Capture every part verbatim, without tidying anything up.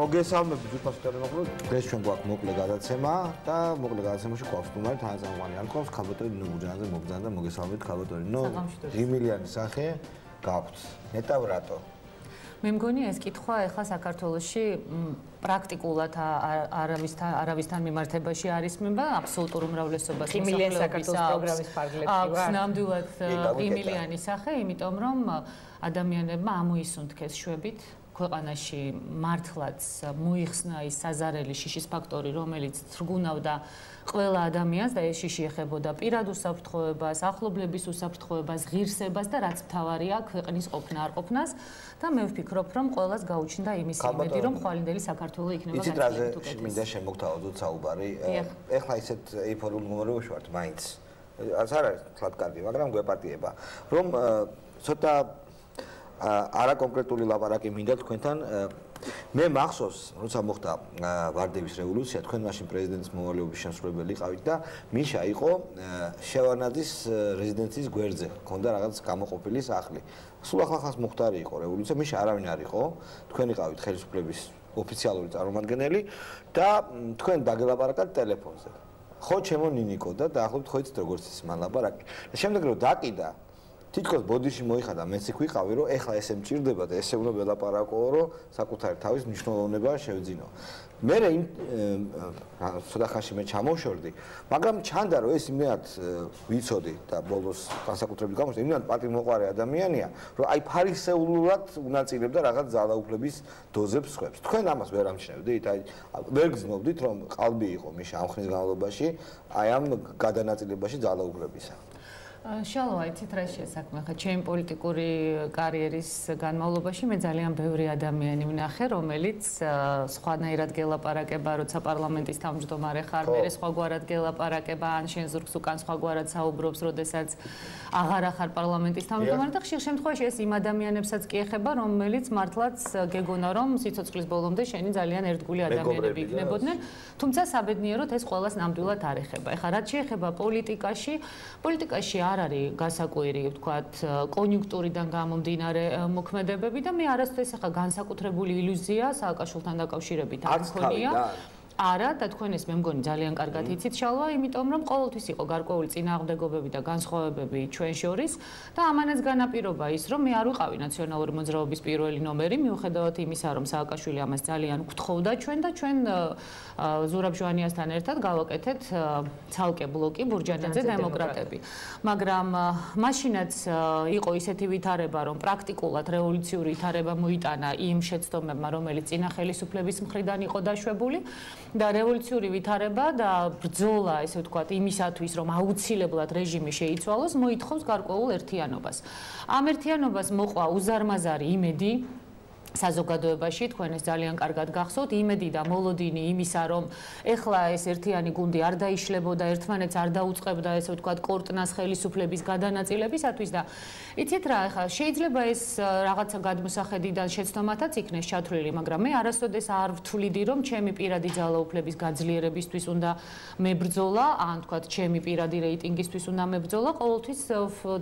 მოგესალმებით უცხოს ტელემოყრულ დღეს ჩვენ გვაქვს მოკლე გადაცემა და მოკლე გადაცემაში გვაქვს თუმარი თანაწამყვანი ალკოს ქალბატონი ნუჯანზე მოგზანა და მოგესალმებით ქალბატონი ნო ღიმილიანი სახე გაქვთ ნეტავ რატო მე მგონი ეს კითხვა ახლა საქართველოში პრაქტიკულად არავისთან არავისთან მიმართებაში არის მება აბსოლუტურ უმრავლესობას ღიმილიანი საქართველოს პროგრამის ფარგლებში აქვს ნამდვილად ღიმილიანი სახე იმიტომ რომ ადამიანებმა ამოისუნთქეს შვებით ქვეყანაში მართლაც მოიხსნა ის საზარელი შიშის ფაქტორი რომელიც თრგუნავდა ყველა ადამიანს და ეს შიში ეხებოდა პირად უსაფრთხოებას, ახლობლების უსაფრთხოებას, ღირსებას და რაც მთავარია ქვეყნის ყოფნა არ ყოფნას და მე ვფიქრობ რომ ყველას გაუჩნდა იმის იმედი რომ ხვალინდელი საქართველო იქნება გაცილებით უკეთესი. იცით რაზე მინდა შემოგთავაზოთ საუბარი. ეხლა ისეთ ეიფორიულ მდგომარეობაში ვართ მაინც. არც არ არის თლად კარგი, მაგრამ გვეპატიება რომ ცოტა არა კონკრეტული ლაპარაკი მინდა თქვენთან მე მახსოვს როცა მოხდა ვარდების რევოლუცია თქვენ მაშინ პრეზიდენტის მოვალეობის შემსრულებელი იყავით და მიშა იყო შევარნაძის რეზიდენციის გვერდზე ქონდა რაღაც გამოყოფილი სახლი სულ ახლახანს მოხდარი იყო რევოლუცია მიშა არავინ არ იყო თქვენ იყავით ხელისუფლების ოფიციალური წარმომადგენელი და თქვენ დაგელაპარაკეთ ტელეფონზე ხო ჩემო ნინიკო და დაახლოებით ხო იცით როგორც ის მან ლაპარაკი და შემდეგ რომ დაკიდა თითქოს ბოდიში მოიხადა მეც იქ ვიყავი რომ ეხლა ესე მჭირდება და ესე უნდა ველაპარაკო რომ საკუთარი თავის მნიშვნელოვნება შევძინო. მე იმ ცოტა ხანში მე ჩამოვშორდი, მაგრამ ჩანდა რომ ეს იმდენად ვიცოდი და ბოლოს განსაკუთრებით გამოსდა, იმდენად პატიმოყვარე ადამიანია, რომ აი ფარისეულურად უნაწილებდა რაღაც ძალაუფლების დოზებს ხვებს. თქვენ ამას ვერ ამჩნევდით, აი ვერ გრძნობდით რომ ყალბი იყო მიშა ამ ხნის განმავლობაში აი ამ გადანაწილებაში ძალაუფლებისა. შალო, იცით რა შესაქმე ხა ჩემი პოლიტიკური კარიერის განმავლობაში მე ძალიან ბევრი ადამიანი ვნახე, რომელიც სხვანაირად გელაპარაკება, როცა პარლამენტის თავმჯდომარე ხარ, მე სხვაგვარად გელაპარაკება, ან შენ ზურგს უკან სხვაგვარად საუბრობს, როდესაც აღარ ხარ პარლამენტის თავმჯდომარე და ხშირ შემთხვევაში ეს იმ ადამიანებსაც კი ეხება, რომელიც მართლაც გეგონა რომ სიცოცხლის ბოლომდე შენი ძალიან ერთგული ადამიანები იქნებოდნენ, თუმცა საბედნიეროდ ეს ყველას ნამდვილად არ ეხება. ეხლა რაც შეეხება პოლიტიკაში, პოლიტიკაში არ არის გასაკვირი, ვთქვათ, კონიუნქტურიდან გამომდინარე მოქმედებები და მე არასდროს ახლა განსაკუთრებული ილუზია სააკაშვილთან დაკავშირებით არ მქონია. არა და თქვენ ეს მე მგონი ძალიან კარგად იცით შალვა, იმიტომ რომ ყოველთვის იყო გარკვეული წინააღმდეგობები და განსხვავებები ჩვენ შორის და ამანაც განაპირობა ის, რომ მე არ ვიყავი ნაციონალური მოძრაობის პირველი ნომერი, მიუხედავად იმისა, რომ სააკაშვილი ამას ძალიან გთხოვდა ჩვენ და ჩვენ ზურაბ ჟვანიასთან ერთად გავაკეთეთ ცალკე ბლოკი ბურჯანაძე დემოკრატები. მაგრამ მაშინაც იყო ისეთი ვითარება, რომ პრაქტიკულად რევოლუციური ვითარება მოიტანა იმ შეცდომებმა, რომელიც წინა ხელისუფლების მხრიდან იყო დაშვებული. და რევოლუციური ვითარება და ბრძოლა, ესე ვთქვათ, იმისათვის, რომ აუცილებლად რეჟიმი შეიცვალოს, მოითხოვს გარკვეულ ერთიანობას. ამ ერთიანობას მოყვა უზარმაზარი იმედი საზოგადოებაში, თქვენ ეს ძალიან კარგად გახსოვთ, იმედი და მოლოდინი იმისა, რომ ეხლა ეს ერთიანი გუნდი არ დაიშლებოდა, ერთმანეთს არ დაუწყებდა, ესე ვთქვათ, კორტნას ხელისუფლების გადანაწილებისათვის და იცით რა, ეხლა შეიძლება ეს რაღაცა გადმოსახედიდან შეცდომათაც იქნეს ჩათვლილი, მაგრამ მე არასოდეს არ ვთვლიდი, რომ ჩემი პირადი ძალაუფლების გაძლიერებისთვის უნდა მებრძოლა, ან ვთქვათ, ჩემი პირადი რეიტინგისთვის უნდა მებრძოლა, ყოველთვის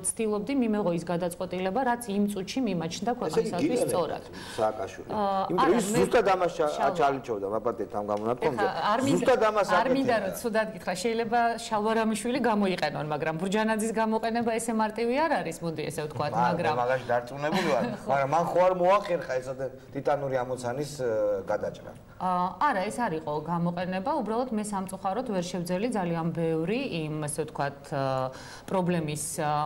ვცდილობდი მიმეღო ის გადაწყვეტილება, რაც იმ წუთში მიმაჩნდა ქვეყნისათვის სწორად. სააკაშვილი. იმიტომ ის ზუსტად ამას აჩალიჩობდა მაპატეთ ამ გამონათქვამზე. ზუსტად ამას არ მინდა რომ ცუდად გითხრა, შეიძლება შალვარამიშვილი გამოიყენონ, მაგრამ ბურჯანაძის გამოყენება ესე მარტივი არ არის, მოდი ესე ვთქვათ, მაგრამ მაგაში დარწმუნებული ვარ, მაგრამ მან ხო არ მოახერხა ესეთი ტიტანური ამოცანის გადაჭრა. არა, ეს არ იყო გამოყენება, უბრალოდ მე სამწუხაროდ ვერ შევძელი ძალიან ბევრი იმ ესე ვთქვათ პრობლემის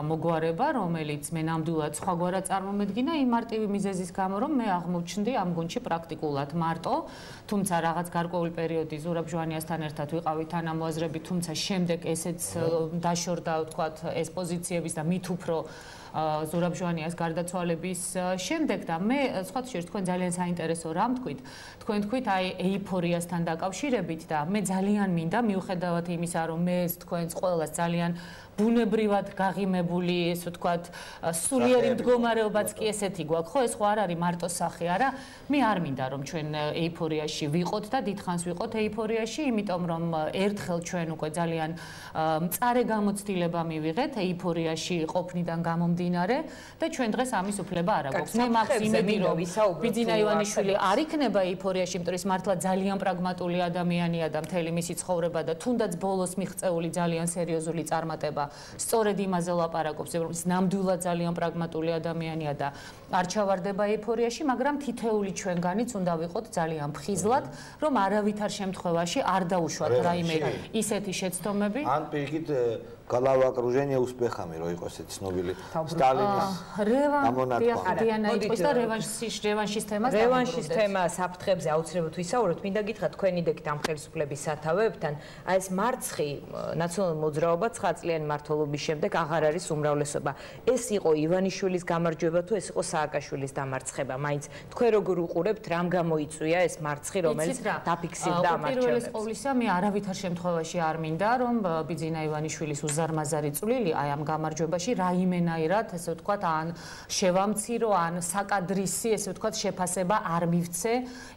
მოგვარება, რომელიც მე ნამდვილად სხვაგვარად წარმომედგინა იმ მარტივი მიზეზის გამო, რომ მე აღმოჩნდი ამ გუნდში პრაქტიკულად მარტო, თუმცა რაღაც გარკვეული პერიოდი ზურაბ ჟვანიასთან ერთად ვიყავი თანამოაზრები, თუმცა შემდეგ ესეც დაშორდა, ვთქვათ, ეს პოზიციების და მით უფრო ზურაბ ჟვანიას გარდაცვალების შემდეგ და მე სხვა შეიძლება თქვენ ძალიან საინტერესო რამ თქვით. თქვენ თქვით აი ეიფორიასთან დაკავშირებით და მე ძალიან მინდა მიუხედავად იმისა, რომ მე თქვენს ყველას ძალიან ბუნებრივად გაღიმებული, ესე ვთქვათ, სულიერი მდგომარეობაც კი ესეთი გვაქვს, ხო, ეს ხო არ არის მარტო სახე, არა? მე არ მინდა რომ ჩვენ ეიფორიაში ვიყოთ და დიდხანს ვიყოთ ეიფორიაში, იმიტომ რომ ერთხელ ჩვენ უკვე ძალიან მწარე გამოცდილება მივიღეთ ეიფორიაში ყოფნიდან გამომდინარე და ჩვენ დღეს ამის უფლება არ აქვს. მე მაქვს იმედი რომ ბიძინა ივანიშვილი არ იქნება ეიფორიაში, იმიტომ რომ ის მართლა ძალიან პრაგმატული ადამიანია და მთელი მისი ცხოვრება და თუნდაც ბოლოს მიღწეული ძალიან სერიოზული წარმატება სწორედ იმაზე ლაპარაკობს, რომ ის ნამდვილად ძალიან პრაგმატული ადამიანია და არ ჩავარდება ეიფორიაში, მაგრამ თითეული ჩვენგანიც უნდა ვიყოთ ძალიან ფხიზლად, რომ არავითარ შემთხვევაში არ დაუშვათ რაიმე ისეთი შეცდომები. ან პირიქით Голова окружения успехами, რო იყოს ეს ცნობილი სტალინის ამონათქვა. დიანა იყოს და რევანშის რევანშის თემას რევანშის თემა საფრთხებზე აუცილებლად ვისაუბროთ. მინდა გითხრათ თქვენი დეგით ამ ხელისუფლების სათავეებთან, აი ეს მარცხი ნაციონალური მოძრაობა ცხრა წლიანი მმართველობის შემდეგ აღარ არის უმრავლესობა. ეს იყო ივანიშვილის გამარჯვება თუ ეს იყო სააკაშვილის დამარცხება? მაინც თქვენ როგორ უყურებთ, რამ გამოიწვია ეს მარცხი, რომელიც დაფიქსირდა ამ არჩევნებს? პირველ ყოვლისა მე არავითარ შემთხვევაში არ მინდა რომ ბიძინა ივანიშვილის ზარმაზარი წვლილი აი ამ გამარჯვებაში რაიმენაირად ესე ვთქვათ ან შევამცირო ან საკადრისი ესე ვთქვათ შეფასება არ მივცე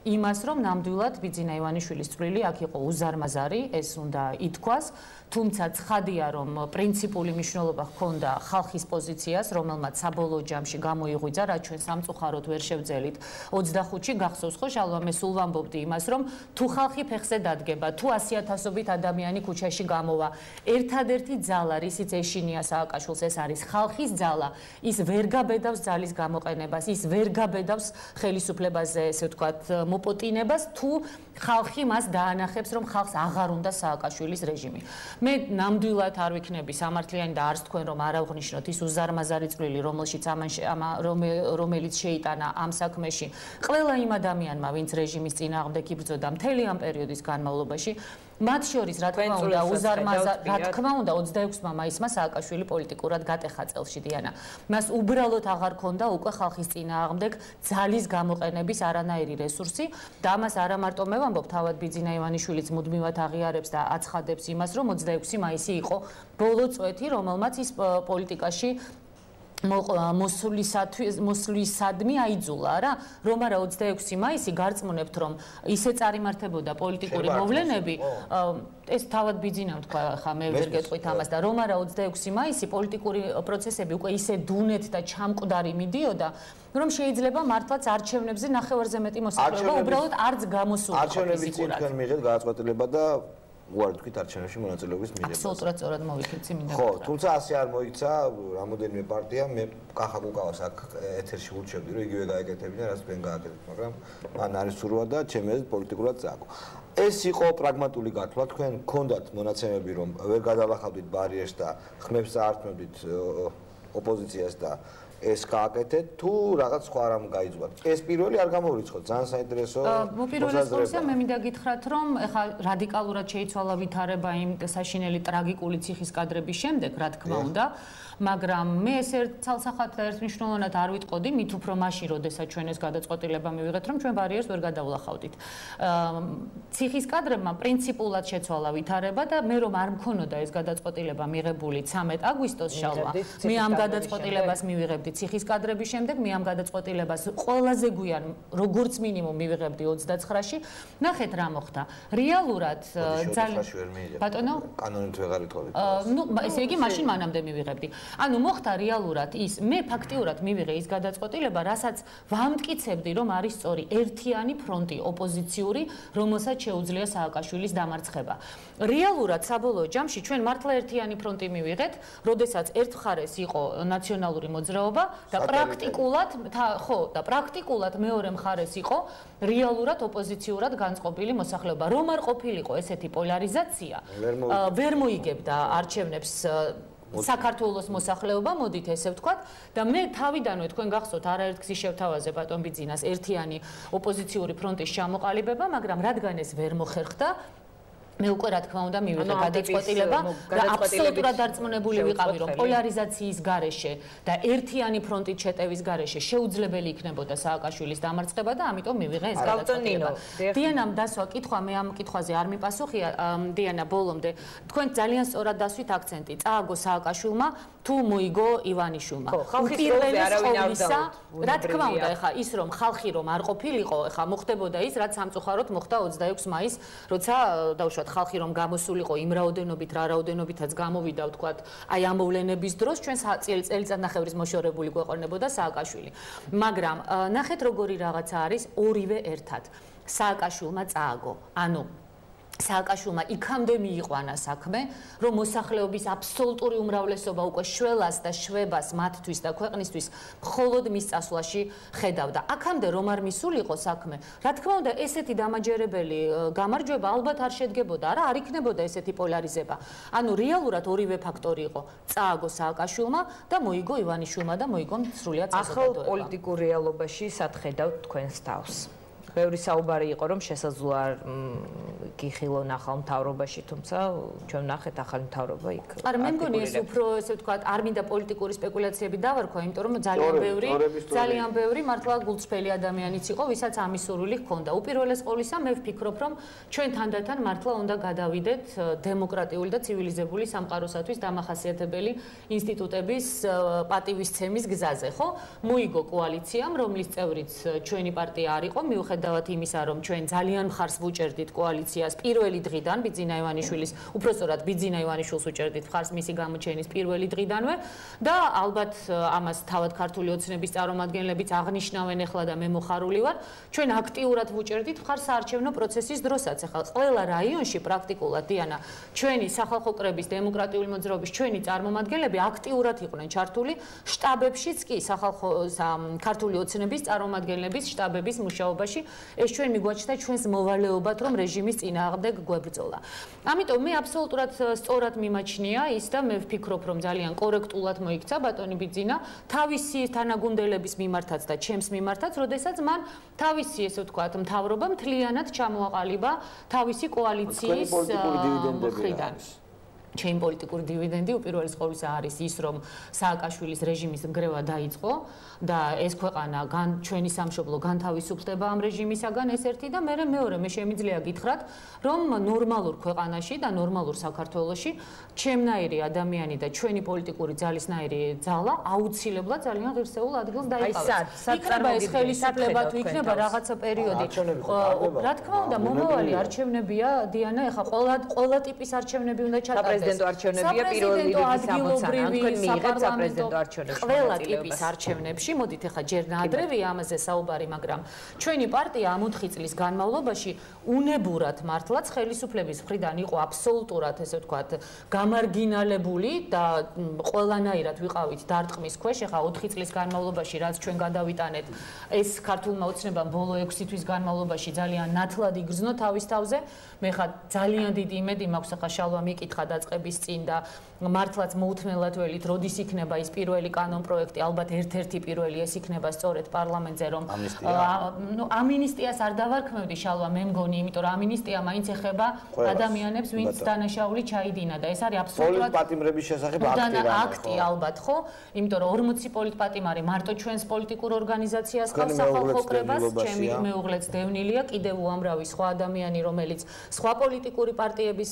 იმას რომ ნამდვილად ბიძინა ივანიშვილის წვლილი აქ იყო უზარმაზარი ეს უნდა ითქვას თუმცა ცხადია რომ პრინციპული მნიშვნელობა ჰქონდა ხალხის პოზიციას რომელმაც საბოლოო ჯამში გამოიღვიძა რაც ჩვენ სამწუხაროდ ვერ შევძელით ოცდახუთში გახსოვს ხო შალვა მე სულ ვამბობდი იმას რომ თუ ხალხი ფეხზე დადგება თუ ასი ათასობით ადამიანი ქუჩაში გამოვა ერთადერთი ძალა რისიც ეშინია სააკაშვილს ეს არის ხალხის ძალა ის ვერ გაბედავს ძალის გამოყენებას ის ვერ გაბედავს ხელისუფლებაზე ესე ვთქვათ მოპოტინებას თუ ხალხი მას დაანახებს რომ ხალხს აღარ უნდა სააკაშვილის რეჟიმი მე ნამდვილად არ ვიქნები სამართლიანი და არც თქვენ რომ არ აღნიშნოთ ის უზარმაზარი წვლილი რომელშიც ამან რომელიც შეიტანა ამ საქმეში ყველა იმ ადამიანმა ვინც რეჟიმის წინააღმდეგ იბრძოდა მთელი ამ პერიოდის განმავლობაში მათ შორის რა თქმა უნდა უზარმაზარ რა თქმა უნდა ოცდაექვსმა მაისმა სააკაშვილი პოლიტიკურად გატეხა წელში დიანა მას უბრალოდ აღარ ქონდა უკვე ხალხის წინააღმდეგ ძალის გამოყენების არანაირი რესურსი და ამას არა მარტო მე ვამბობ თავად ბიძინა ივანიშვილიც მუდმივად აღიარებს და აცხადებს იმას რომ ოცდაექვსი მაისი იყო ბოლო წვეთი რომელმაც ის პოლიტიკაში მოსვლისადმი აიძულა რა რომ არა ოცდაექვსი მაისი გარწმუნებთ რომ ისე წარიმართებოდა პოლიტიკური მოვლენები ეს თავად ბიძინამ თქვა ხა მე ვერ გეტყვით ამას და რომ არა ოცდაექვსი მაისი პოლიტიკური პროცესები უკვე ისე დუნეთ და ჩამკვდარი მიდიოდა რომ შეიძლება მართლაც არჩევნებზე ნახევარზე მეტი მოსახლეობა უბრალოდ არც გამოსულა არჩევნების წინ თქვენ მიიღეთ გადაწყვეტილება და უარ თქვით არჩევნებში მონაწილეობის მიღებას. აბსოლუტურად სწორად მოვიქეცი მინდა. ხო, თუმცა ასე არ მოიქცა რამოდენიმე პარტია, მე კახა კუკავას აქ ეთერში ურჩევდი, რომ იგივე გაეკეთებინა, რაც თქვენ გააკეთეთ, მაგრამ მან არის სურვა და ჩემი აზრით პოლიტიკურად წააგო. ეს იყო პრაგმატული გათვლა, თქვენ გქონდათ მონაცემები, რომ ვერ გადავახავდით ბარიერს და ხმებს წაართმევდით ოპოზიციას და ეს გააკეთეთ თუ რაღაც სხვა რამ გაიძვათ. ეს პირველი არ გამოვრიცხოთ, ძალიან საინტერესო. მოპირველეს ყოვლისა მე მინდა გითხრათ, რომ ეხლა რადიკალურად შეიცვალა ვითარება იმ საშინელი ტრაგიკული ციხის კადრების შემდეგ, რა თქმა უნდა, მაგრამ მე ეს ერთ ცალსახად და ერთმნიშვნელოვნად არ ვიტყოდი, მით უფრო მაშინ, როდესაც ჩვენ ეს გადაწყვეტილება მივიღეთ, რომ ჩვენ ბარიერს ვერ გადავლახავდით. ციხის კადრებმა პრინციპულად შეცვალა ვითარება და მე რომ არ მქონოდა ეს გადაწყვეტილება მიღებული ცამეტ აგვისტოს შალვა, მე ამ გადაწყვეტილებას მივიღებდი ციხის კადრების შემდეგ მე ამ გადაწყვეტილებას ყველაზე გვიან როგორც მინიმუმ მივიღებდი ოცდაცხრაში. ნახეთ რა მოხდა. რეალურად ძალიან ბატონო კანონით ვეღარ ითხოვეთ. ნუ ესე იგი მაშინ მანამდე მივიღებდი. ანუ მოხდა რეალურად ის მე ფაქტიურად მივიღე ის გადაწყვეტილება, რასაც ვამტკიცებდი რომ არის სწორი ერთიანი ფრონტი ოპოზიციური, რომელსაც შეუძლია სააკაშვილის დამარცხება. რეალურად საბოლოო ჯამში ჩვენ მართლა ერთიანი ფრონტი მივიღეთ, როდესაც ერთ მხარეს იყო ნაციონალური მოძრაობა და პრაქტიკულად ხო და პრაქტიკულად მეორე მხარეს იყო რეალურად ოპოზიციურად განწყობილი მოსახლეობა. რომ არ ყოფილიყო ესეთი პოლარიზაცია, ვერ მოიგებდა არჩევნებს საქართველოს მოსახლეობა, მოდით ესე ვთქვათ და მე თავიდანვე თქვენ გახსოვთ არაერთ გზის შევთავაზე ბატონ ბიძინას ერთიანი ოპოზიციური ფრონტის ჩამოყალიბება, მაგრამ რადგან ეს ვერ მოხერხდა მე უკვე რა თქმა უნდა მივიღე გადაწყვეტილება და აბსოლუტურად დარწმუნებული ვიყავი რომ პოლარიზაციის გარეშე და ერთიანი ფრონტით შეტევის გარეშე შეუძლებელი იქნებოდა სააკაშვილის დამარცხება და ამიტომ მივიღე ეს გადაწყვეტილება. დიანამ დასვა კითხვა მე ამ კითხვაზე არ მიპასუხია დიანა ბოლომდე თქვენ ძალიან სწორად დასვით აქცენტი წააგო სააკაშვილმა თუ მოიგო ივანიშვილმა. პირველი არავინ არ დაუთ. რა თქმა უნდა ეხა ის რომ ხალხი რომ არ ყოფილიყო ეხა მოხდებოდა ის რაც სამწუხაროდ მოხდა ოცდაექვსი მაისს როცა დავუშვათ ხალხი რომ გამოსულიყო იმ რაოდენობით რა რაოდენობითაც გამოვიდა ვთქვათ აი ამ მოვლენების დროს ჩვენ წელიწადნახევრის მოშორებული გვეყოლნებოდა სააკაშვილი მაგრამ ნახეთ როგორი რაღაცა არის ორივე ერთად სააკაშვილმა წააგო ანუ სააკაშვილმა იქამდე მიიყვანა საქმე, რომ მოსახლეობის აბსოლუტური უმრავლესობა უკვე შველას და შვებას მათთვის და ქვეყნისთვის მხოლოდ მის წასვლაში ხედავდა. აქამდე რომ არ მისულიყო საქმე, რა თქმა უნდა, ესეთი დამაჯერებელი გამარჯვება ალბათ არ შედგებოდა, არა, არ იქნებოდა ესეთი პოლარიზება. ანუ რეალურად ორივე ფაქტორი იყო. წააგო სააკაშვილმა და მოიგო ივანიშვილმა და მოიგო სრულიად საზოგადოება. ახალ პოლიტიკურ რეალობაში სად ხედავთ თქვენს თავს? ბევრი საუბარი იყო რომ შესაძლოა გიხილონ ახალ მთავრობაში, თუმცა ჩვენ ნახეთ ახალი მთავრობა იქ. არა, მე მგონი ეს უფრო ესე ვთქვათ, არ მინდა პოლიტიკური სპეკულაციები დავარქვა, იმიტომ რომ ძალიან ბევრი, ძალიან ბევრი მართლა გულწრფელი ადამიანიც იყო, ვისაც ამის სურვილი ჰქონდა. უპირველეს ყოვლისა, მე ვფიქრობ, რომ ჩვენ თანდათან მართლა უნდა გადავიდეთ დემოკრატიული და ცივილიზებული სამყაროსათვის დამახასიათებელი ინსტიტუტების პატივისცემის გზაზე, ხო? მოიგო კოალიციამ, რომლის წევრიც ჩვენი პარტია არ იყო, მიუხედავად დავათ იმისა, რომ ჩვენ ძალიან მხარს ვუჭერდით კოალიციას პირველი დღიდან ბიძინა ივანიშვილის, უпростоრად ბიძინა ივანიშვილს უჭერდით მხარს მისი გამოჩენის პირველი დღიდანვე და ალბათ ამას თავად ქართული ოცნების წარმომადგენლებიც აღნიშნავენ ახლა და მე მოხარული ვარ, ჩვენ აქტიურად ვუჭერდით მხარს საარჩევნო პროცესის დროსაც. ახლა ყველა რაიონში პრაქტიკულად დიანა ჩვენი სახალხო კრების დემოკრატიული მოძრაობის ჩვენი წარმომადგენლები აქტიურად იყვნენ ჩართული შტაბებშიც კი სახალხო ქართული ოცნების წარმომადგენლების შტაბების მუშაობაში ეს ჩვენ მიგვაჩნდა ჩვენს მოვალეობად რომ რეჟიმის წინააღმდეგ გვებრძოლა. ამიტომ მე აბსოლუტურად სწორად მიმაჩნია ის და მე ვფიქრობ რომ ძალიან კორექტულად მოიქცა ბატონი ბიძინა თავისი თანაგუნდელების მიმართაც და ჩემს მიმართაც, როდესაც მან თავისი ესე ვთქვათ მთავრობა მთლიანად ჩამოაყალიბა თავისი კოალიციის მხრიდან. ჩემი პოლიტიკური დივიდენდი უპირველეს ყოვლისა არის ის რომ სააკაშვილის რეჟიმის მგრევა დაიწყო და ეს ქვეყანა გან ჩვენი სამშობლო განთავისუფლდება ამ რეჟიმისაგან ეს ერთი და მე მეორე მე შემიძლია გითხრათ რომ ნორმალურ ქვეყანაში და ნორმალურ საქართველოში ჩემნაირი ადამიანი და ჩვენი პოლიტიკური ძალისნაირი ძალა აუცილებლად ძალიან ღირსეულ ადგილს დაიკავებს. იქნება ეს ხელისუფლება თუ იქნება რაღაცა პერიოდი. რა თქმა უნდა მომავალი არჩევნებია დიანა ეხა ყველა ყველა ტიპის არჩევნები უნდა ჩატარდეს. საპრეზიდენტო არჩევნებია პირველი რიგის ამოცანა. ან თქვენ მიიღეთ საპრეზიდენტო არჩევნებში ყველა ტიპის არჩევნებში, მოდით ახლა ჯერ ნაადრევია ამაზე საუბარი, მაგრამ ჩვენი პარტია ამ ოთხი წლის განმავლობაში უნებურად მართლაც ხელისუფლების მხრიდან იყო აბსოლუტურად ესე ვთქვათ გამარგინალებული და ყველანაირად ვიყავით დარტყმის ქვეშ. ახლა ოთხი წლის განმავლობაში რაც ჩვენ გადავიტანეთ, ეს ქართულმა ოცნებამ ბოლო ექვსი თვის განმავლობაში ძალიან ნათლად იგრძნო თავის თავზე. მე ხა ძალიან დიდი იმედი მაქვს ახლა შალვა მიკითხა დაწყების წინ და მართლაც მოუთმენლად ველით, როდის იქნება ის პირველი კანონ პროექტი, ალბათ ერთ-ერთი პირველი ეს იქნება სწორედ პარლამენტზე, რომ ნუ ამინისტიას არ დავარქმევდი შალვა, მე მგონი, იმიტომ რომ ამინისტია მაინც ეხება ადამიანებს, ვინც დანაშაული ჩაიდინა და ეს არის აბსოლუტურად პოლიტპატიმრების შესახებ აქტი რა. აქტი ალბათ, ხო? იმიტომ რომ ორმოცი პოლიტპატიმარი მარტო ჩვენს პოლიტიკურ ორგანიზაციას ყავს სახალხო კრებას, ჩემი მეუღლეც დევნილია, კიდევ უამრავი სხვა ადამიანი, რომელიც სხვა პოლიტიკური პარტიების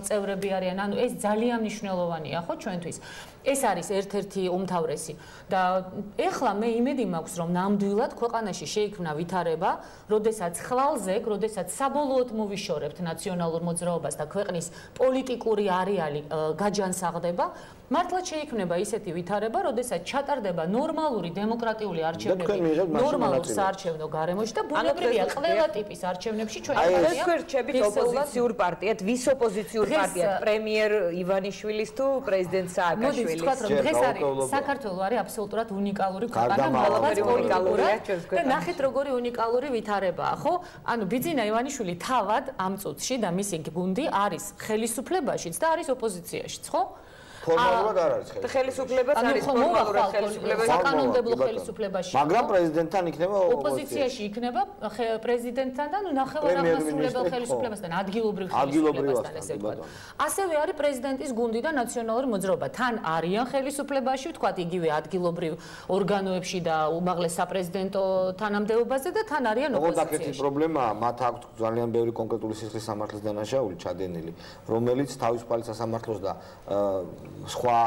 წევრები არიან, ანუ ეს ძალიან მნიშვნელოვანია ხო ჩვენთვის. ეს არის ერთ-ერთი უმთავრესი და ეხლა მე იმედი მაქვს რომ ნამდვილად ქვეყანაში შეიქმნა ვითარება, როდესაც ხვალზე, როდესაც საბოლოოდ მოვიშორებთ ნაციონალურ მოძრაობას და ქვეყნის პოლიტიკური არეალი გაჯანსაღდება, მართლაც შეიქმნება ისეთი ვითარება, როდესაც ჩატარდება ნორმალური დემოკრატიული არჩევნები ნორმალურ საარჩევნო გარემოში და ბუნებრივია ყველა ტიპის არჩევნებში ჩვენ ვერჩებით ოპოზიციურ პარტიად, ვის ოპოზიციურ პარტიად, პრემიერ ივანიშვილის თუ პრეზიდენტ სააკაშვილის. ვთქვათ რომ დღეს არის საქართველო არის აბსოლუტურად უნიკალური ქვეყანა მართლაც პოლიტიკურად და ნახეთ როგორი უნიკალური ვითარებაა ხო? ანუ ბიძინა ივანიშვილი თავად ამ წუთში და მისი გუნდი არის ხელისუფლებაშიც და არის ოპოზიციაშიც ხო? ფორმალურად არ არის ხელისუფლებაც არის ფორმალურად ხელისუფლება საკანონმდებლო ხელისუფლებაში მაგრამ პრეზიდენტთან იქნება ოპოზიციაში იქნება პრეზიდენტთან და ნახევარდამასრულებელ ხელისუფლებასთან ადგილობრივ ხელისუფლებასთან ესე ვთქვათ ასევე არის პრეზიდენტის გუნდი და ნაციონალური მოძრაობა თან არიან ხელისუფლებაში ვთქვათ იგივე ადგილობრივ ორგანოებში და უმაღლეს საპრეზიდენტო თანამდებობაზე და თან არიან ოპოზიციაში. ოღონდ პრობლემაა, მათ აქვს ძალიან ბევრი კონკრეტული სისხლის სამართლის დანაშაული ჩადენილი, რომელიც თავისუფალი სასამართლოს და სხვა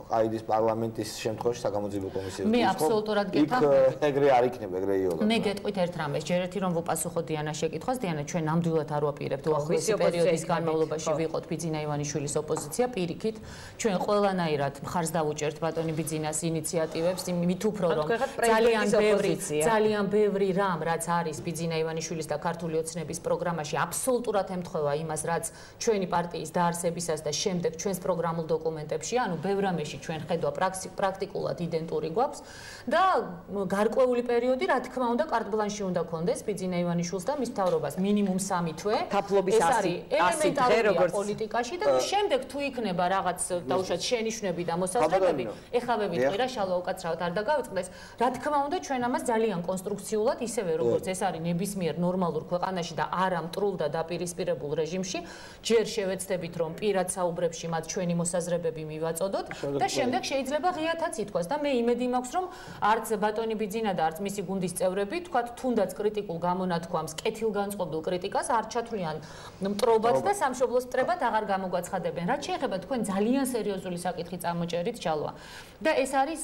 აიდის პარლამენტის შემთხვევაში საგამოძიებო კომისიას მე აბსოლუტურად გეთანხმები. იქ ეგრე არ იქნება, ეგრე იოლა. მე გეტყვით ერთ რამეს, ჯერ ერთი რომ ვუპასუხო დიანას შეკითხვას, დიანა ჩვენ ნამდვილად არ ვაპირებთ უახლოესი პერიოდის განმავლობაში ვიყოთ ბიძინა ივანიშვილის ოპოზიცია, პირიქით, ჩვენ ყველანაირად მხარს დავუჭერთ ბატონი ბიძინას ინიციატივებს, იმით უფრო რომ ძალიან ბევრი ძალიან ბევრი რამ, რაც არის ბიძინა ივანიშვილის და ქართული ოცნების პროგრამაში, აბსოლუტურად ემთხვევა იმას, რაც ჩვენი პარტიის დაარსებისას და შემდეგ ჩვენს პროგრამულ დოკუმენტებში, ანუ ბევრ რამეში ჩვენ ხედვა პრაქტიკულად იდენტური გვაქვს და გარკვეული პერიოდი რა თქმა უნდა კარტ-ბლანში უნდა კონდეს ბიძინა ივანიშვილს და მის მთავრობას მინიმუმ სამი თვე თაფლობის ასი ელემენტარულია პოლიტიკაში და შემდეგ თუ იქნება რაღაც დაუშვათ შენიშვნები და მოსაზრებები ეხლა მე ვიტყვი რა შალვა უკაცრავად არ დაგავიწყდეს რა თქმა უნდა ჩვენ ამას ძალიან კონსტრუქციულად ისევე როგორც ეს არის ნებისმიერ ნორმალურ ქვეყანაში და არა მტრულ და დაპირისპირებულ რეჟიმში ჯერ შევეცდებით რომ პირად საუბრებში მათ ჩვენი მოსაზრებები მივაწოდოთ და შემდეგ შეიძლება ღიათაც ითქვას და მე იმედი მაქვს რომ არც ბატონი ბიძინა და არც მისი გუნდის წევრები თქვათ თუნდაც კრიტიკულ გამონათქვამს კეთილგანწყობილ კრიტიკას არ ჩათვლიან მტრობად და სამშობლოს მტრებად აღარ გამოგვაცხადებენ რაც შეეხება თქვენ ძალიან სერიოზული საკითხი წამოჭერით ჩალვა და ეს არის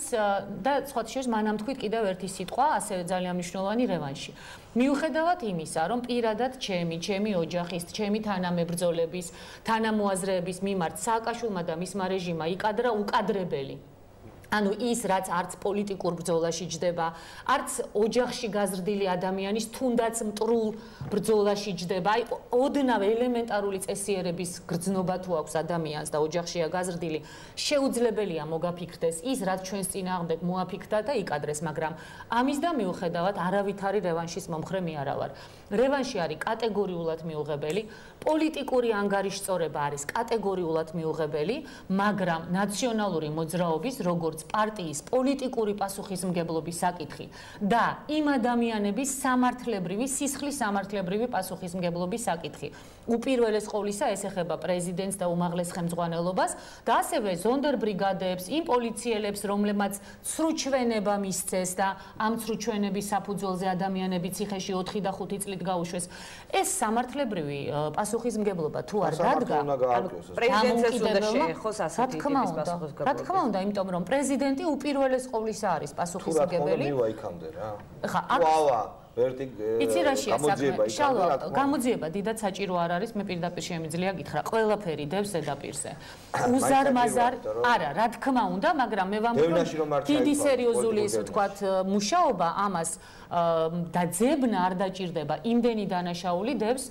და სხვა შორის მანამ თქვით კიდევ ერთი სიტყვა ასევე ძალიან მნიშვნელოვანი რევანში მიუხედავად იმისა რომ პირადად ჩემი ჩემი ოჯახის ჩემი თანამებრძოლების თანამოაზრეების მიმართ სააკაშვილმა და მისმა რეჟიმმა იკადრა უკადრებელი ანუ ის რაც არც პოლიტიკურ ბრძოლაში ჯდება, არც ოჯახში გაზრდილი ადამიანის თუნდაც მტრულ ბრძოლაში ჯდება. აი ოდნავ ელემენტარული წესიერების გრძნობა თუ აქვს ადამიანს და ოჯახშია გაზრდილი, შეუძლებელია მოგაფიქრდეს ის რაც ჩვენს წინააღმდეგ მოაფიქრდა და იკადრეს, მაგრამ ამის და მიუხედავად არავითარი რევანშის მომხრე მე არა ვარ. რევანში არის კატეგორიულად მიუღებელი, პოლიტიკური ანგარიშწორება არის კატეგორიულად მიუღებელი, მაგრამ ნაციონალური მოძრაობის როგორც პარტიის პოლიტიკური პასუხისმგებლობის საკითხი და იმ ადამიანების სამართლებრივი სისხლის სამართლებრივი პასუხისმგებლობის საკითხი. უპირველეს ყოვლისა ეს ეხება პრეზიდენტს და უმაღლეს ხელმძღვანელობას და ასევე ზონდერბრიგადებს, იმ პოლიციელებს, რომლებმაც ცრუჩვენება მისცეს და ამ ცრუჩვენების საფუძველზე ადამიანები ციხეში ოთხი და ხუთი წლით გაუშვეს. ეს სამართლებრივი პასუხისმგებლობა თუ არ დადგა, პრეზიდენტს უნდა შეეხოს ასეთი ტიპის პასუხისმგებლობა. რა თქმა უნდა, იმიტომ რომ პრეზიდენტი უპირველეს ყოვლისა არის პასუხისმგებელი. თუ რა იქამდე რა. ხა, ვალა ვერტი გამოძიება შალვა გამოძიება დიდად საჭირო არ არის მე პირდაპირ შემიძლია გითხრა ყველაფერი დევს ზედაპირზე უზარმაზარ არა რა თქმა უნდა მაგრამ მე ვამბობ დიდი სერიოზული ის ვთქვათ მუშაობა ამას დაძებნა არ დაჭირდება იმდენი დანაშაული დევს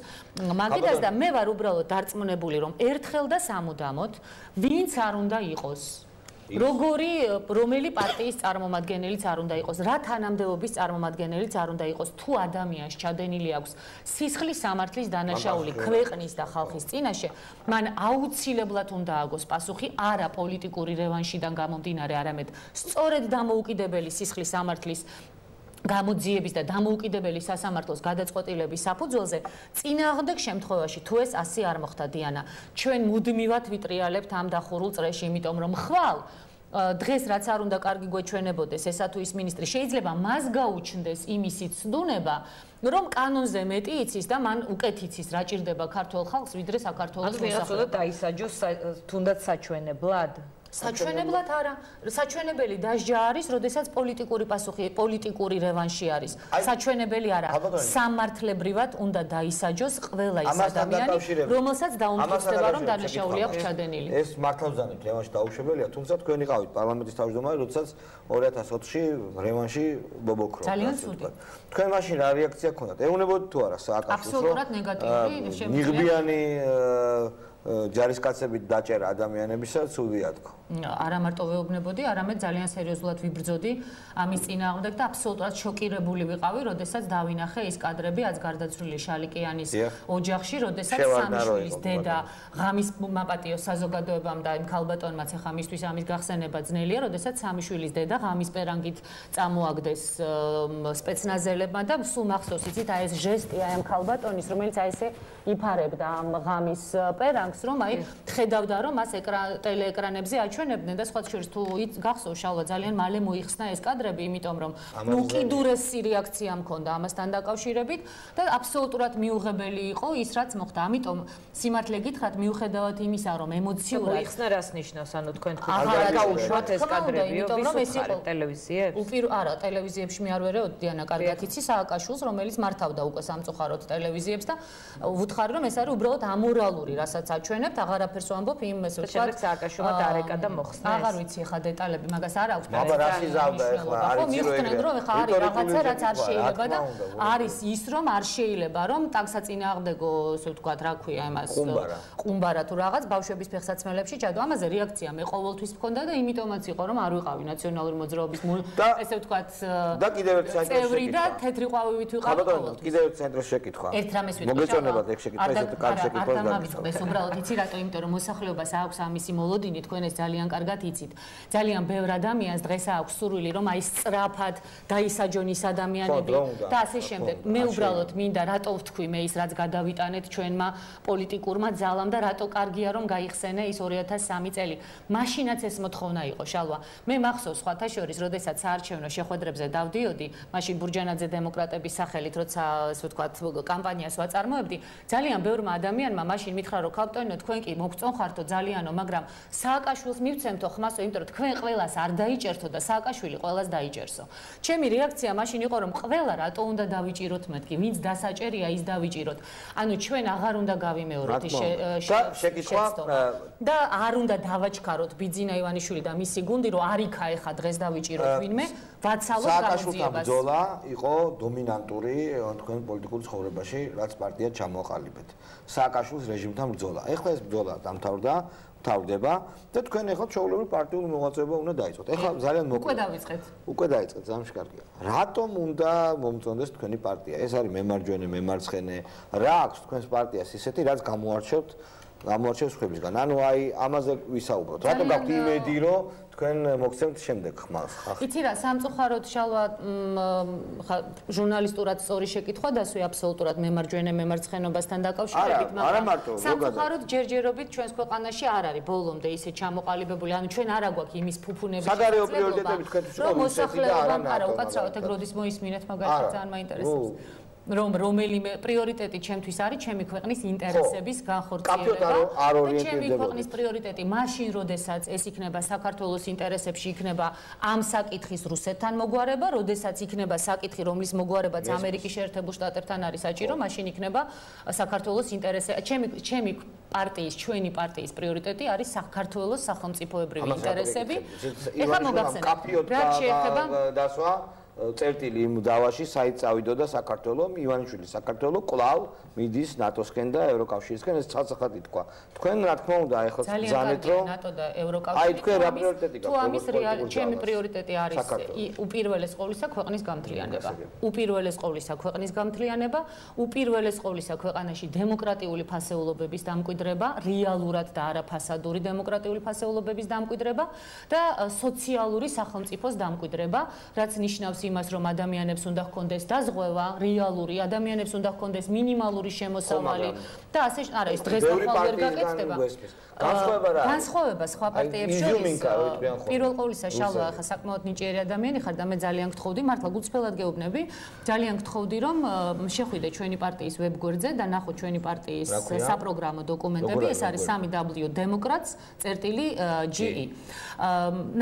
მაგიტას და მე ვარ უბრალოდ დარწმუნებული რომ ერთხელ და სამუდამოდ ვინც არ უნდა იყოს როგორი რომელი პარტიის წარმომადგენელიც არ უნდა იყოს, რა თანამდებობის წარმომადგენელიც არ უნდა იყოს, თუ ადამიანს ჩადენილი აქვს სისხლის სამართლის დანაშაული ქვეყნის და ხალხის წინაშე, მან აუცილებლად უნდა აგოს პასუხი არა პოლიტიკური რევანშიდან გამომდინარე, არამედ სწორედ დამოუკიდებელი სისხლის სამართლის გამოძიების და დამოუკიდებელი სასამართლოს გადაწყვეტილების საფუძველზე წინააღმდეგ შემთხვევაში თუ ეს ასე არ მოხდა დიანა ჩვენ მუდმივად ვიტრიალებთ ამ დახურულ წრეში იმიტომ რომ ხვალ დღეს რაც არ უნდა კარგი გვეჩვენებოდეს ესა თუ ის მინისტრი შეიძლება მას გაუჩნდეს იმისი ცდუნება რომ კანონზე მეტი იცის და მან უკეთ იცის რა ჭირდება ქართულ ხალხს ვიდრე საქართველოს მოსახლეობას. ანუ ვიღაცა დაისაჯოს თუნდაც საჩვენებლად საჩვენებლად არა, საჩვენებელი დასჯა არის, როდესაც პოლიტიკური პასუხი, პოლიტიკური რევანში არის. საჩვენებელი არა, სამართლებრივად უნდა დაისაჯოს ყველა ის ადამიანი, რომელსაც დაუმტკიცდება, რომ დანაშაული აქვს ჩადენილი. ეს მართლა ვზანებთ, რევანში დაუშვებელია, თუმცა თქვენ იყავით პარლამენტის თავმჯდომარე, როდესაც ორი ათას ოთხში რევანში ბობოქრო. ძალიან ცუდი. თქვენ მაშინ რა რეაქცია გქონდათ? ეუბნებოდით თუ არა სააკაშვილს? აბსოლუტურად ნეგატიური, ნიღბიანი ჯარისკაცებით დაჭერა ადამიანებისა ცუდია თქო. არა მარტო ვეუბნებოდი, არამედ ძალიან სერიოზულად ვიბრძოდი ამის წინააღმდეგ და აბსოლუტურად შოკირებული ვიყავი, როდესაც დავინახე ის კადრები აც გარდაცვლილი შალიკიანის ოჯახში, როდესაც სამიშვილის დედა ღამის მაპატიო საზოგადოებამ და იმ ქალბატონმაც ახლა მისთვის ამის გახსენება ძნელია, როდესაც სამიშვილის დედა ღამის პერანგით წამოაგდეს სპეცნაზელებმა და სულ მახსოვს იცით აი ეს ჟესტი აი ამ ქალბატონის, რომელიც აი ესე იფარებდა ამ ღამის პერანგს, რომ აი ხედავდა რომ მას ტელეეკრანებზე აჩვენებდნენ და სხვა შორის თუ გახსოვს შალვა ძალიან მალე მოიხსნა ეს კადრები, იმიტომ რომ უკიდურესი რეაქცია მქონდა ამასთან დაკავშირებით და აბსოლუტურად მიუღებელი იყო ის რაც მოხდა. ამიტომ სიმართლე გითხრათ მიუხედავად იმისა რომ ემოციურად მოიხსნა რას ნიშნავს, ანუ თქვენ თქვენ არ გაუშვათ ეს კადრები, იმიტომ რომ ეს იყო ტელევიზიებში? უპირ არა, ტელევიზიებში მე არ ვერეოდ დიანა კარგად იცი სააკაშვილს, რომელიც მართავდა უკვე სამწუხაროდ ტელევიზიებს და ვუთხარი რომ ეს არის უბრალოდ ამორალური, რასაც აჩვენებთ, აღარაფერს ვამბობ იმ ესე ვთქვათ სააკაშვილმა დარეკა და მოხსნა ეს. აღარ ვიცი ხა დეტალები, მაგას არ აქვს. აბა რა სიზავდა ახლა, არ იცი რომ მიხსნენ რომ ხა არის რაღაცა რაც არ შეიძლება და არის ის რომ არ შეიძლება რომ ტაქსაწინააღმდეგო ესე ვთქვათ რა ქვია იმას ყუმბარა თუ რაღაც ბავშვების ფეხსაცმელებში ჩადო. ამაზე რეაქცია მე ყოველთვის მქონდა და იმიტომაც იყო რომ არ ვიყავი ნაციონალური მოძრაობის ესე ვთქვათ და კიდევ ერთ წევრი და თეთრი ყვავივით ვიყავი ყოველთვის. კიდევ ერთ ცენტრს შეკითხვა. ერთ რამეს ვიტყვი. მოგეწონებათ ეგ შეკითხვა ესეთი კარგი შეკითხვა და გამიწყდეს უბრალოდ იცი რატო, იმიტომ რომ მოსახლეობას აქვს ამისი მოლოდინი, თქვენ ეს ძალიან კარგად იცით. ძალიან ბევრ ადამიანს დღეს აქვს სურვილი რომ აი სწრაფად დაისაჯონ ის ადამიანები და ასე შემდეგ. მე უბრალოდ მინდა რატო ვთქვი მე ის რაც გადავიტანეთ ჩვენმა პოლიტიკურმა ძალამ და რატო კარგია რომ გაიხსენე ის ორი ათას სამი წელი. მაშინაც ეს მოთხოვნა იყო შალვა. მე მახსოვს სხვათა შორის, როდესაც საარჩევნო შეხვედრებზე დავდიოდი, მაშინ ბურჯანაძე დემოკრატების სახელით, როცა ასე ვთქვათ კამპანიას ვაწარმოებდი, ძალიან ბევრმა ადამიანმა მაშინ მითხრა რომ ქალბატონო თქვენ კი მოგწონხართო ძალიანო, მაგრამ სააკაშვილს მივცემთო ხმასო, იმიტომ რომ თქვენ ყველას არ დაიჭერთო და სააკაშვილი ყველას დაიჭერსო. ჩემი რეაქცია მაშინ იყო რომ ყველა რატო უნდა დავიჭიროთ მეთქი, ვინც დასაჭერია ის დავიჭიროთ. ანუ ჩვენ აღარ უნდა გავიმეოროთ ის შეკითხვა და არ უნდა დავაჩქაროთ ბიძინა ივანიშვილი და მისი გუნდი, რომ არ იქა ეხა დღეს დავიჭიროთ ვინმე, ვაცალოთ გამოძიებას. სააკაშვილთან ბრძოლა იყო დომინანტური თქვენ პოლიტიკურ ცხოვრებაში, რაც პარტია ჩამოყალიბეთ. სააკაშვილის რეჟიმთან ბრძოლა. ეხლა ეს ბრძოლა დამთავრდა, თავდება და თქვენ ეხლა ჩაოლებული პარტიული მოღვაწეობა უნდა დაიწყოთ. ეხლა ძალიან მოკლედ. უკვე დავიწყეთ. უკვე დაიწყეთ, ძალიან კარგია. რატომ უნდა მომწონდეს თქვენი პარტია? ეს არის მემარჯვენე, მემარცხენე. რა აქვს თქვენს პარტიას ისეთი, რაც გამოარჩევთ, გამოარჩევს ხმებისგან. ანუ აი ამაზე ვისაუბროთ. რატომ გაქვთ იმედი, რომ თქვენ მოგცემთ შემდეგ ხმას? იცი რა, სამწუხაროდ შალვა ჟურნალისტურად სწორი შეკითხვა დასვი აბსოლუტურად მემარჯვენე მემარცხენობასთან დაკავშირებით, მაგრამ სამწუხაროდ ჯერჯერობით ჩვენს ქვეყანაში არ არის ბოლომდე ისე ჩამოყალიბებული, ანუ ჩვენ არ აგვაქვს იმის ფუფუნების საგარეო პრიორიტეტები თქვენთვის რომ მოსახლეობამ არა უკაცრავად ეგ როდის მოისმინეთ მაგალითად ძალიან მაინტერესებს. რომ რომელიმე პრიორიტეტი ჩემთვის არის ჩემი ქვეყნის ინტერესების განხორციელება და ჩემი ქვეყნის პრიორიტეტი მაშინ როდესაც ეს იქნება საქართველოს ინტერესებში, იქნება ამ საკითხის რუსეთთან მოგვარება, როდესაც იქნება საკითხი რომლის მოგვარებაც ამერიკის შეერთებულ შტატებთან არის საჭირო, მაშინ იქნება საქართველოს ინტერესები. ჩემი ჩემი პარტიის, ჩვენი პარტიის პრიორიტეტი არის საქართველოს სახელმწიფოებრივი ინტერესები. ეხლა მოგახსენებთ რა შეეხება დასვა წერტილი იმ დავაში, საით წავიდოდა საქართველო, ივანიშვილი საქართველო კვლავ მიდის ნატოსკენ და ევროკავშირისკენ, ეს ცალსახად ითქვა. თქვენ რა თქმა უნდა ეხლა ბრძანეთ რომ ნატო და ევროკავშირი აი თქვენ რა პრიორიტეტი გაქვთ? თუ ამის რეალი ჩემი პრიორიტეტი არის უპირველეს ყოვლისა ქვეყნის გამთლიანება. უპირველეს ყოვლისა ქვეყნის გამთლიანება, უპირველეს ყოვლისა ქვეყანაში დემოკრატიული ფასეულობების დამკვიდრება, რეალურად და არა ფასადური დემოკრატიული ფასეულობების დამკვიდრება და სოციალური სახელმწიფოს დამკვიდრება, რაც ნიშნავს იმას, რომ ადამიანებს უნდა ჰქონდეს დაზღვევა, რეალური ადამიანებს უნდა ჰქონდეს მინიმალური შემოსავალი და ასე არა ის დღეს ახალ ვერ გაკეთდება. განსხვავება რა? განსხვავება სხვა პარტიებს შორის. პირველ ყოვლისა შალვა ხა საკმაოდ ნიჭიერი ადამიანი ხარ და მე ძალიან გთხოვდი, მართლა გულწრფელად გეუბნები, ძალიან გთხოვდი რომ შეხვიდე ჩვენი პარტიის ვებგვერდზე და ნახო ჩვენი პარტიის საპროგრამო დოკუმენტები, ეს არის სამი დაბლიუ დემოკრატს წერტილი ჯი ი.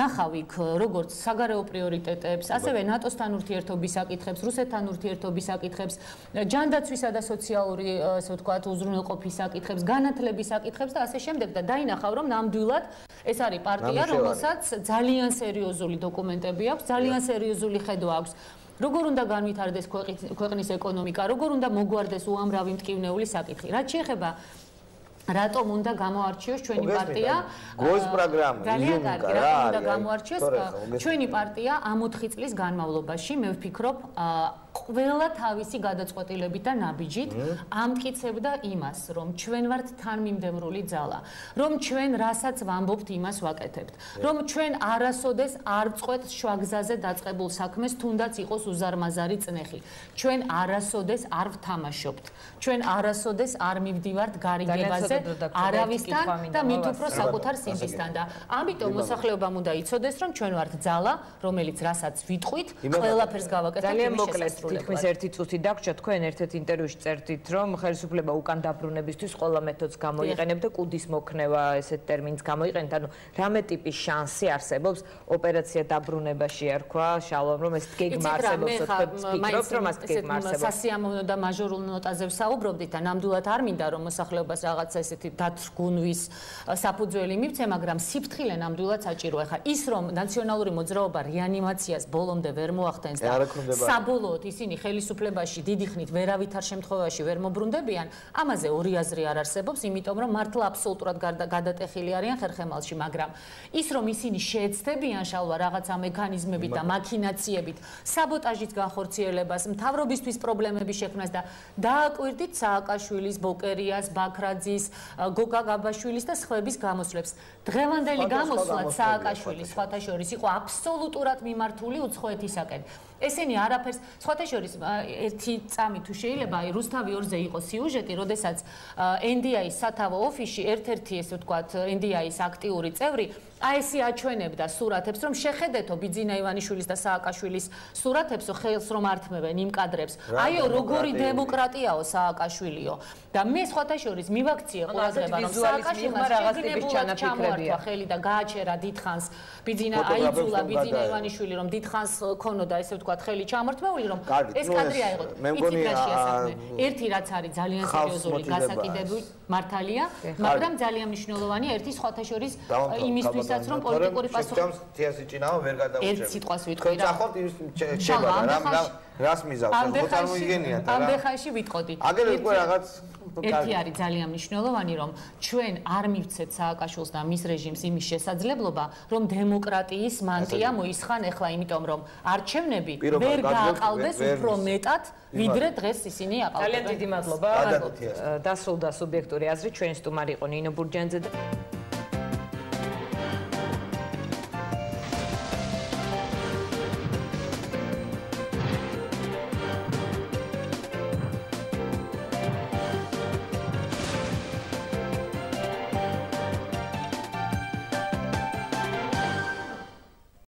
ნახავ იქ როგორც საგარეო პრიორიტეტებს, ასევე ნატოსთან ურთიერთობის საკითხებს, რუსეთთან ურთიერთობის საკითხებს, ჯანდაცვისა და სოციალური, ასე ვთქვათ, უზრუნველყოფის საკითხებს, განათლების საკითხებს და ასე შემდეგ და დაინახავ რომ ნამდვილად ეს არის პარტია, რომელსაც ძალიან სერიოზული დოკუმენტები აქვს, ძალიან სერიოზული ხედვა აქვს. როგორ უნდა განვითარდეს ქვეყნის ეკონომიკა, როგორ უნდა მოგვარდეს უამრავი მტკივნეული საკითხი. რაც შეეხება რატომ უნდა გამოარჩიოს ჩვენი პარტია? გოის პროგრამა, ძალიან კარგი, რატომ უნდა გამოარჩიოს? ჩვენი პარტია ამ ოთხი წლის განმავლობაში, მე ვფიქრობ, ყველა თავისი გადაწყვეტილებით და ნაბიჯით ამტკიცებდა იმას, რომ ჩვენ ვართ თანმიმდევრული ძალა, რომ ჩვენ რასაც ვამბობთ, იმას ვაკეთებთ, რომ ჩვენ არასოდეს არ ვწყვეტ შვაგზაზე დაწყებულ საქმეს, თუნდაც იყოს უზარმაზარი წნეხი. ჩვენ არასოდეს არ ვთამაშობთ. ჩვენ არასოდეს არ მივდივართ გარიგებაზე არავისთან და მით უფრო საკუთარ სინდისთან და ამიტომ მოსახლეობამ უნდა იცოდეს, რომ ჩვენ ვართ ძალა, რომელიც რასაც ვიტყვით, ყველაფერს გავაკეთებთ. ძალიან მოკლედ თითქმის ერთი წუთი დაგვრჩა, თქვენ ერთ-ერთ ინტერვიუში წერდით, რომ ხელისუფლება უკან დაბრუნებისთვის ყველა მეთოდს გამოიყენებდა, კუდის მოქნევა ესეთ ტერმინს გამოიყენეთ, ანუ რამე ტიპის შანსი არსებობს ოპერაცია დაბრუნებაში ერქვა, შალომ რომ ეს გეგმა არსებობს, ვფიქრობთ, რომ ეს გეგმა არსებობს. სასიამოვნო და მაჟორულ ნოტაზე ვსაუბრობდით და ნამდვილად არ მინდა რომ მოსახლეობას რაღაცა ესეთი დათრგუნვის საფუძველი მივცე, მაგრამ სიფრთხილე ნამდვილად საჭიროა. ხა ის რომ ნაციონალური მოძრაობა რეანიმაციას ბოლომდე ვერ მოახდენს და საბოლოოდ ისინი ხელისუფლებაში დიდი ხნით ვერავითარ შემთხვევაში ვერ მობრუნდებიან, ამაზე ორი აზრი არ არსებობს, იმიტომ რომ მართლა აბსოლუტურად გადატეხილი არიან ხერხემალში, მაგრამ ის რომ ისინი შეეცდებიან შალვა რაღაცა მექანიზმებით და მაქინაციებით საბოტაჟის განხორციელებას, მთავრობისთვის პრობლემების შექმნას და დააკვირდით სააკაშვილის, ბოკერიას, ბაქრაძის, გოგა გაბაშვილის და სხვების გამოსვლებს. დღევანდელი გამოსვლა სააკაშვილის სხვათა შორის იყო აბსოლუტურად მიმართული უცხოეთისაკენ. ესენი არაფერს, სხვათა შორის ერთი წამი თუ შეიძლება, აი რუსთავი ორზე იყო სიუჟეტი, როდესაც ენ დი აის სათავო ოფისში ერთ-ერთი ესე ვთქვათ, ენ დი აის აქტიური წევრი აი ესე აჩვენებდა სურათებს, რომ შეხედეთო ბიძინა ივანიშვილის და სააკაშვილის სურათებსო, ხელს რომ ართმევენ იმ კადრებს. აიო, როგორი დემოკრატიაო სააკაშვილიო. და მე სხვათა შორის მივაქციე ყურადღება, რომ სააკაშვილმა რაღაც ტიპის ჩანაფიქრებია ხელი და გააჩერა დიდხანს ბიძინა აიძულა ბიძინა ივანიშვილი, რომ დიდხანს ქონოდა ესე ვთქვათ, ხელი ჩამორთმეული, რომ ეს კადრი აიღო. იცით რა შეასახმე? ერთი რაც არის ძალიან სერიოზული გასაკიდებული მართალია, მაგრამ ძალიან მნიშვნელოვანია ერთი სხვათა შორის იმისთვის რომ პოლიტიკური პასუხი თეასიჭინავა ვერ გადაუჭერთ. ერთ სიტყვას ვიტყვი რა. ხახოთ ის შეება რა რას მიზავს რა მოწარმოიგენიათ რა. ამ ბეხაში ვიტყოდი. აგერ უკვე რაღაც ერთი არის ძალიან მნიშვნელოვანი, რომ ჩვენ არ მივცეთ სააკაშვილს და მის რეჟიმს იმის შესაძლებლობა, რომ დემოკრატიის მანტია მოისხან ახლა, იმიტომ რომ არჩევნები ვერ გააყალბეს უფრო მეტად, ვიდრე დღეს ისინი აყალბებენ. ძალიან დიდი მადლობა. დასრულდა სუბიექტური აზრი, ჩვენი სტუმარი იყო ნინო ბურჯანიძე და